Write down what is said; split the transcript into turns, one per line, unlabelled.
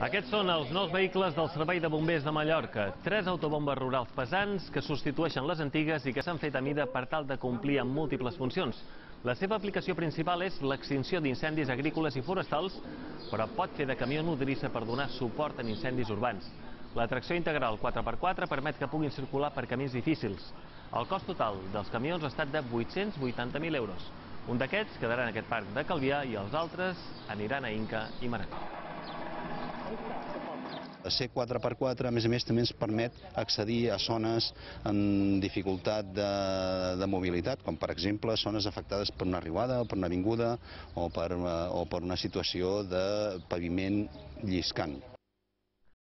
Aquests són els nous vehicles del Servei de Bombers de Mallorca. 3 autobombes rurals pesants que substitueixen les antigues i que s'han fet a mida per tal de complir amb múltiples funcions. La seva aplicació principal és l'extinció d'incendis agrícoles i forestals, però pot fer de camió nodrissa per donar suport en incendis urbans. La tracció integral 4x4 permet que puguin circular per camins difícils. El cost total dels camions ha estat de 880.000 euros. Un d'aquests quedarà en aquest parc de Calvià i els altres aniran a Inca i Manacor.
Ser 4x4, a més, també ens permet accedir a zones amb dificultat de mobilitat, com per exemple zones afectades per una riuada o per una avinguda o per una situació de paviment lliscant.